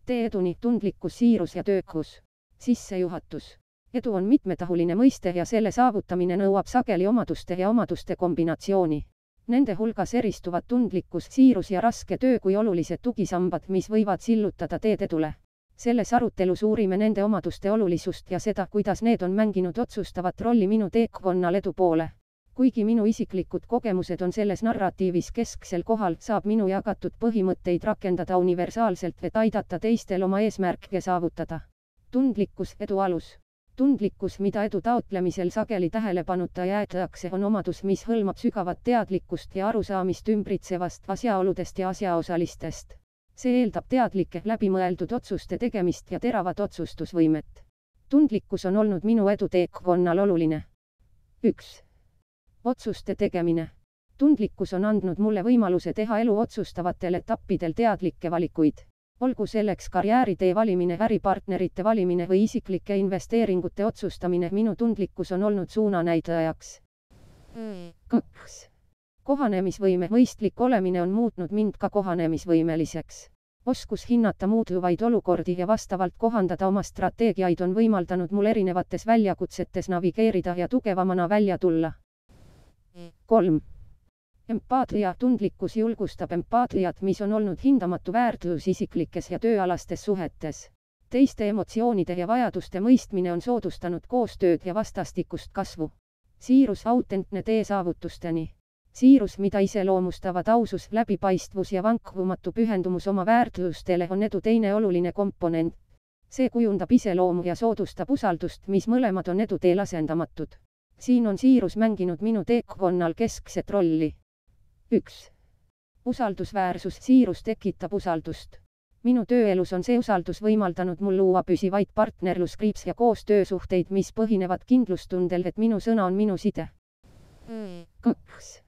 tee eduni, tundlikkus, siirus ja töökus. Sissejuhatus. Edu on mitmetahuline mõiste ja selle saavutamine nõuab sageli omaduste ja omaduste kombinatsiooni. Nende hulgas eristuvad tundlikkus, siirus ja raske töö kui olulised tugisambad, mis võivad sillutada teed edule. Selles arutelus uurime nende omaduste olulisust ja seda, kuidas need on mänginud otsustavat rolli minu teekonnal edu poole. Kuigi minu isiklikud kogemused on selles narratiivis kesksel kohal, saab minu jagatud põhimõtteid rakendada universaalselt, et aidata teistel oma eesmärke saavutada. Tundlikkus, edu alus. Tundlikkus, mida edu taotlemisel sageli tähelepanuta jäetakse, on omadus, mis hõlmab sügavat teadlikkust ja arusaamist ümbritsevast asjaoludest ja asjaosalistest. See eeldab teadlike, läbimõeldud otsuste tegemist ja teravat otsustusvõimet. Tundlikkus on olnud minu edu teekonnal oluline. 1. Otsuste tegemine. Tundlikkus on andnud mulle võimaluse teha elu otsustavatel etappidel teadlikke valikuid. Olgu selleks karjääritee valimine, äripartnerite valimine või isiklike investeeringute otsustamine, minu tundlikkus on olnud suunanäitajaks. 2. Kohanemisvõime. Mõistlik olemine on muutnud mind ka kohanemisvõimeliseks. Oskus hinnata muutuvaid olukordi ja vastavalt kohandada oma strateegiaid on võimaldanud mul erinevates väljakutsetes navigeerida ja tugevamana välja tulla. 3. Empaatia. Tundlikkus julgustab empaatiat, mis on olnud hindamatu väärtus isiklikes ja tööalastes suhetes. Teiste emotsioonide ja vajaduste mõistmine on soodustanud koostööd ja vastastikust kasvu. Siirus. Autentne tee saavutusteni. Siirus, mida iseloomustavad ausus, läbipaistvus ja vankkumatu pühendumus oma väärtustele, on edu teine oluline komponent. See kujundab iseloomu ja soodustab usaldust, mis mõlemad on edu teel asendamatud. Siin on siirus mänginud minu teekonnal keskset rolli. 1. Usaldusväärsus. Siirus tekitab usaldust. Minu tööelus on see usaldus võimaldanud mul luua püsivaid partnerluskriips ja koostöösuhteid, mis põhinevad kindlustundel, et minu sõna on minu side. 2.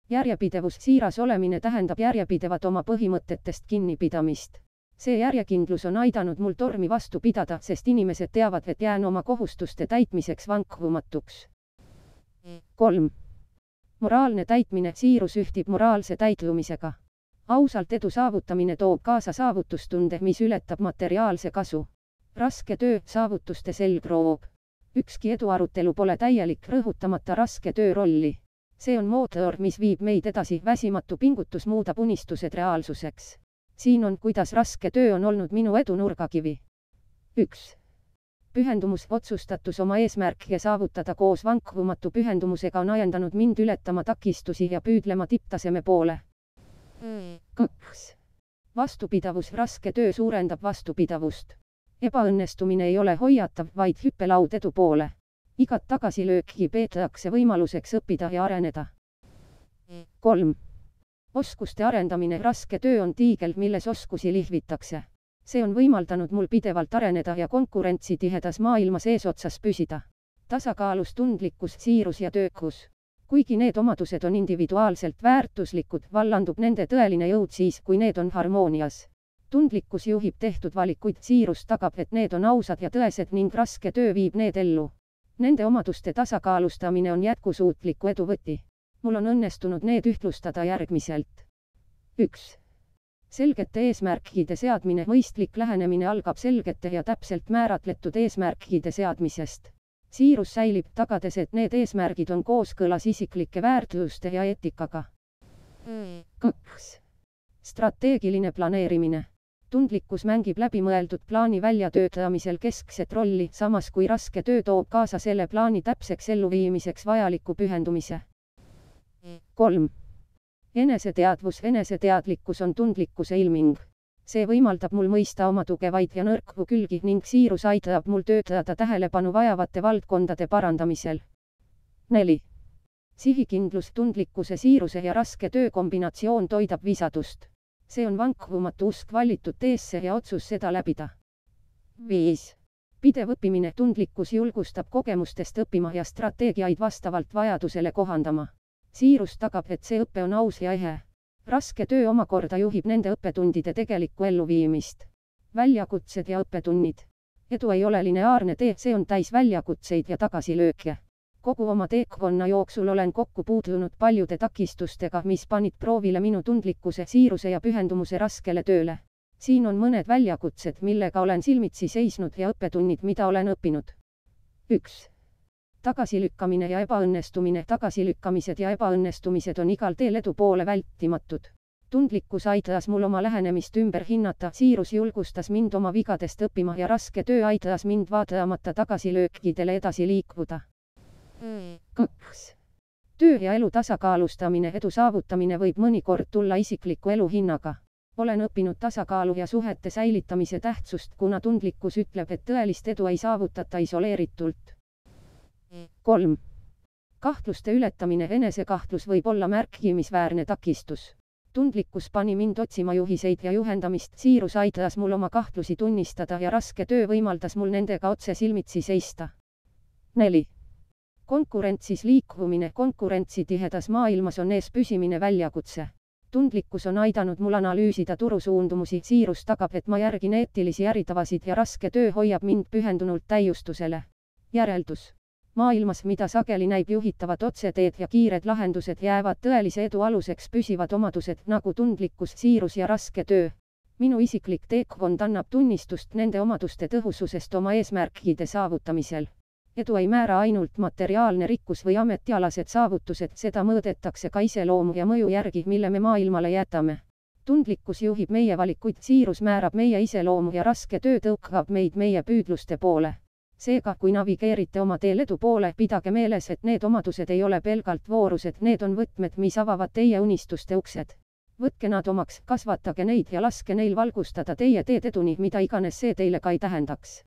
Järjepidevus. Siiras olemine tähendab järjepidevat oma põhimõtetest kinnipidamist. See järjekindlus on aidanud mul tormi vastu pidada, sest inimesed teavad, et jään oma kohustuste täitmiseks vankumatuks. 3. Moraalne täitmine. Siirus ühtib moraalse täitlumisega. Ausalt edu saavutamine toob kaasa saavutustunde, mis ületab materiaalse kasu. Raske töö. Saavutuste selgroog. Ükski eduarutelu pole täielik, rõhutamata raske töö rolli. See on mootor, mis viib meid edasi, väsimatu pingutus muudab unistused reaalsuseks. Siin on, kuidas raske töö on olnud minu edu nurgakivi. 1. Pühendumus. Otsustatus oma eesmärke saavutada koos vankumatu pühendumusega on ajendanud mind ületama takistusi ja püüdlema tipptaseme poole. 2. Vastupidavus. Raske töö suurendab vastupidavust. Ebaõnnestumine ei ole hoiatav, vaid hüppelaud edu poole. Igat tagasilööki peetakse võimaluseks õppida ja areneda. 3. Oskuste arendamine. Raske töö on tiigel, milles oskusi lihvitakse. See on võimaldanud mul pidevalt areneda ja konkurentsitihedas maailmas eesotsas püsida. Tasakaalus. Tundlikkus, siirus ja töökus. Kuigi need omadused on individuaalselt väärtuslikud, vallandub nende tõeline jõud siis, kui need on harmoonias. Tundlikkus juhib tehtud valikuid, siirus tagab, et need on ausad ja tõesed ning raske töö viib need ellu. Nende omaduste tasakaalustamine on jätkusuutliku edu võti. Mul on õnnestunud need ühtlustada järgmiselt. 1. Selgete eesmärkide seadmine. Mõistlik lähenemine algab selgete ja täpselt määratletud eesmärkide seadmisest. Siirus säilib, tagades, et need eesmärgid on kooskõlas isiklike väärtuste ja eetikaga. 2. Strateegiline planeerimine. Tundlikkus mängib läbimõeldud plaani väljatöötamisel keskset rolli, samas kui raske töö toob kaasa selle plaani täpseks elluviimiseks vajaliku pühendumise. 3. Eneseteadvus. Eneseteadlikkus on tundlikkuse ilming. See võimaldab mul mõista oma tugevaid ja nõrku külgi ning siirus aitab mul töötada tähelepanu vajavate valdkondade parandamisel. 4. Sihikindlus. Tundlikkuse, siiruse ja raske töö kombinatsioon toidab visadust. See on vankumatu usk valitud teesse ja otsus seda läbida. 5. Pidev õppimine. Tundlikkus julgustab kogemustest õppima ja strateegiaid vastavalt vajadusele kohandama. Siirus tagab, et see õpe on aus ja ehe. Raske töö omakorda juhib nende õppetundide tegelikku elluviimist. Väljakutsed ja õppetunnid. Edu ei ole lineaarne tee, see on täis väljakutseid ja tagasilööke. Kogu oma teekonna jooksul olen kokku puutunud paljude takistustega, mis panid proovile minu tundlikkuse, siiruse ja pühendumuse raskele tööle. siin on mõned väljakutsed, millega olen silmitsi seisnud ja õppetunnid, mida olen õppinud. 1. Tagasilükkamine ja ebaõnnestumine. Tagasilükkamised ja ebaõnnestumised on igal teel edu poole vältimatud. Tundlikkus aitas mul oma lähenemist ümber hinnata, siirus julgustas mind oma vigadest õppima ja raske töö aitas mind vaatamata tagasilöökidele edasi liikuda. 2. Töö ja elu tasakaalustamine. Edu saavutamine võib mõnikord tulla isikliku elu hinnaga. Olen õppinud tasakaalu ja suhete säilitamise tähtsust, kuna tundlikkus ütleb, et tõelist edu ei saavutata isoleeritult. 3. Kahtluste ületamine. Enesekahtlus võib olla märkimisväärne takistus. Tundlikkus pani mind otsima juhiseid ja juhendamist, siirus aitas mul oma kahtlusi tunnistada ja raske töö võimaldas mul nendega otse silmitsi seista. 4. Konkurentsis liikuvumine. Konkurentsitihedas maailmas on ees püsimine väljakutse. Tundlikkus on aidanud mul analüüsida turusuundumusi, siirus tagab, et ma järgin eetilisi äritavasid ja raske töö hoiab mind pühendunult täiustusele. Järeldus. Maailmas, mida sageli näib juhitavad otseteed ja kiired lahendused, jäävad tõelise edu aluseks püsivad omadused nagu tundlikkus, siirus ja raske töö. Minu isiklik teekond annab tunnistust nende omaduste tõhususest oma eesmärkide saavutamisel. Edu ei määra ainult materiaalne rikkus või ametialased saavutused, seda mõõdetakse ka iseloomu ja mõju järgi, mille me maailmale jätame. Tundlikkus juhib meie valikuid, siirus määrab meie iseloomu ja raske töö tõukab meid meie püüdluste poole. Seega, kui navigeerite oma teel edu poole, pidage meeles, et need omadused ei ole pelgalt voorused, need on võtmed, mis avavad teie unistuste uksed. Võtke nad omaks, kasvatage neid ja laske neil valgustada teie teed eduni, mida iganes see teile ka ei tähendaks.